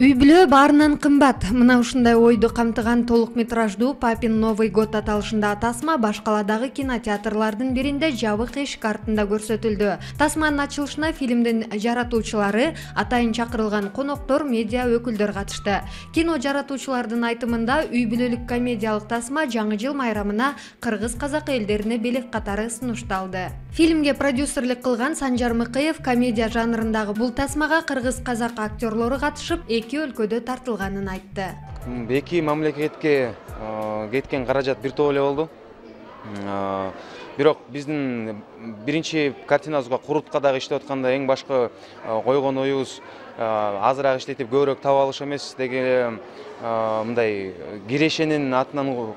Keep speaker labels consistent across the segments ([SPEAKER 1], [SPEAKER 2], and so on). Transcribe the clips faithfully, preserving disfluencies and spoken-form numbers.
[SPEAKER 1] Үй бүлө баарынан кымбат. Мына ушундай ойду камтыган толук метраждуу Папин Новый год аталышында тасма баш каладагы кинотеатрлардын биринде жабык эшик артында көрсөтүлдү. Тасманын ачылышына фильмдин жаратуучулары, атайын чакырылган коноктор, медиа өкүлдөр катышты. Кино жаратуучулардын айтымында үй бүлөлүк комедиялык тасма жаңы жыл майрамына кыргыз-казак элдерине белек катары сунушталды. Фильмге продюсерлик кылган Санжар Мыкыев комедия жанрындагы бул тасмага кыргыз-казак актерлору катышып, эки өлкөдө тартылганын айтты.
[SPEAKER 2] Эки мамлекетке кеткен каражат бир топ эле болду. Бирок биздин биринчи картинабызга курутка дагы иштеп атканда эң башкы койгон оюбуз азыраак иштетип көбүрөөк таап алыш эмес деген мындай кирешенин атынан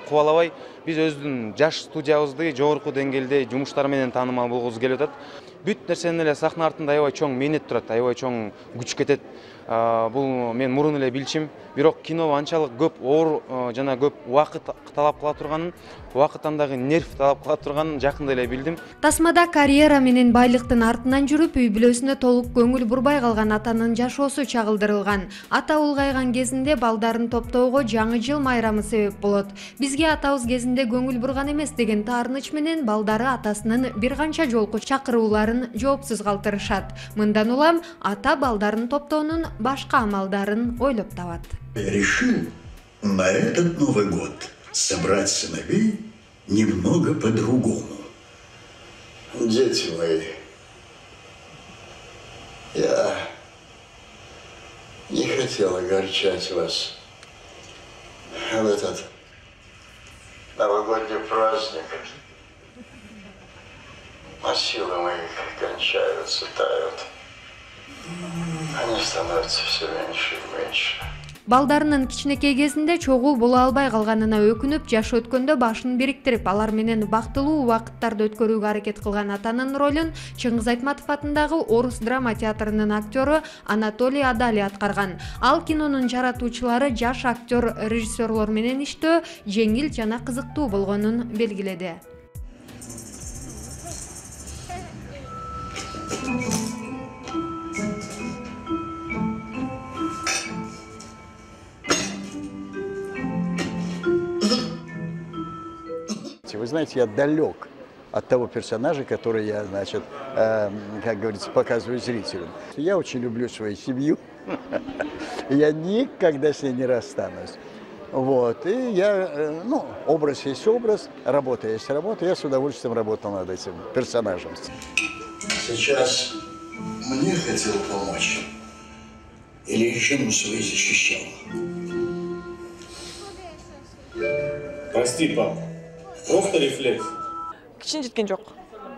[SPEAKER 2] кубалабай биз өзүбүздүн жаш студиябызды жогорку деңгээлде жумуштар менен таанымал болгубуз келип атат. Бүт нерсенин эле сахна артында аябай чоң мээнет турат, аябай чоң күч кетет. Бул мен мурун эле билчим, бирок кино анчалык көп оор жана көп убакыт талап кыла турганын, убакыттан дагы нерв талап кыла турганын жакында эле билдим.
[SPEAKER 1] Тасмада карьера менен байлыктын артынан жүрүп, үй бүлөсүнө толук көңүл бурбай калган атанын жашоосу чагылдырылган. Ата улгайган кезинде балдарын топтоого жаңы жыл майрамы себеп болот. Бизге атабыз кезинде көңүл бурган эмес деген таарыныч менен балдары атасынын бир канча жолку чакырууларын жоопсуз калтырышат. Мындан улам ата балдарын топтоонун башка амалдарын ойлоп табат.
[SPEAKER 3] Решил на этот Новый год собрать сыновей немного по-другому. Дети мои, я не хотел огорчать вас в этот новогодний праздник. А силы мои кончаются, тают. Они становятся все меньше и меньше.
[SPEAKER 1] Балдарынын кичинекей кезинде чогуу боло албай калганына өкүнүп, жаш өткөндө башын бириктирип, алар менен бактылуу убакыттарды өткөрүүгө аракет кылган атанын ролун Чыңгыз Айтматов атындагы Орус драма театрынын актёру Анатолий Адали аткарган. Ал кинонун жаратуучулары жаш актер, режиссерлор менен иштөө жеңил жана кызыктуу болгонун белгиледи.
[SPEAKER 4] Вы знаете, я далек от того персонажа, который я, значит, э, как говорится, показываю зрителям. Я очень люблю свою семью, я никогда с ней не расстанусь. Вот, и я, э, ну, образ есть образ, работа есть работа, я с удовольствием работал над этим персонажем.
[SPEAKER 3] Сейчас мне хотел помочь или режиму свой защищал?
[SPEAKER 5] Прости, папа. Просто рефлекс.
[SPEAKER 6] Кичине жеткен жок.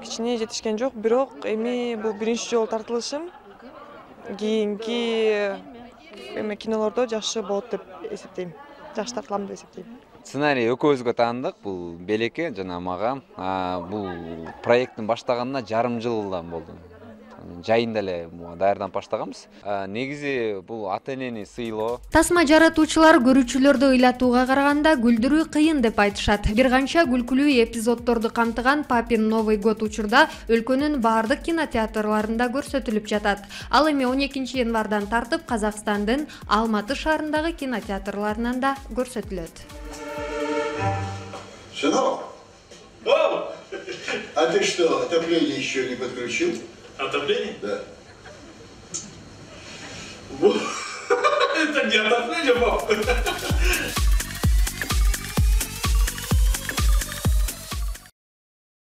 [SPEAKER 6] Кичине жетишкен жок, бирок эми бул биринчи жолу тартылышым. Кийинки эми кинолордо жакшы болот деп эсептейм. Жакшы тартылам деп эсептейм.
[SPEAKER 7] Сценарий экөөбүзгө таандык, бул Белекке жана мага. Бул проекттин баштаганына жарым жылдан болду. Жайында эле даярданып баштаганбыз. Негизи бул ата-энени сыйлоо.
[SPEAKER 1] Тасма жаратуучулар көрүүчүлөрдү ыйлатууга караганда күлдүрүү кыйын деп айтышат. Бир канча күлкүлүү эпизоддорду камтыган Папин Новый год учурда өлкөнүн баардык кинотеатрларында көрсөтүлүп жатат. Ал эми он экинчи январдан тартып Казакстандын Алматы шаарындагы кинотеатрларынан да көрсөтүлөт.
[SPEAKER 3] Сынок, а ты что, отопление еще не подключил?
[SPEAKER 5] Отопление?
[SPEAKER 3] Да.
[SPEAKER 5] Это не отопление, папа.